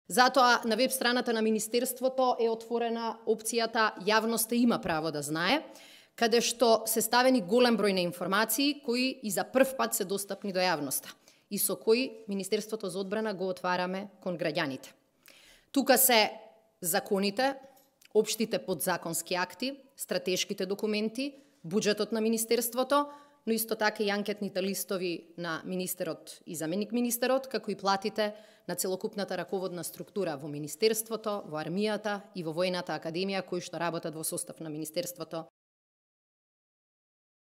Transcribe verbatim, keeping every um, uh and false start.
Затоа на веб страната на Министерството е отворена опцијата Јавноста има право да знае, каде што се ставени голем број на информации кои и за прв пат се достапни до јавноста и со кои Министерството за одбрана го отвараме кон граѓаните. Тука се законите, општите подзаконски акти, стратешките документи, буџетот на Министерството, но исто така и анкетните листови на министерот и заменик министерот, како и платите на целокупната раководна структура во Министерството, во армијата и во Војната академија, кои што работат во состав на Министерството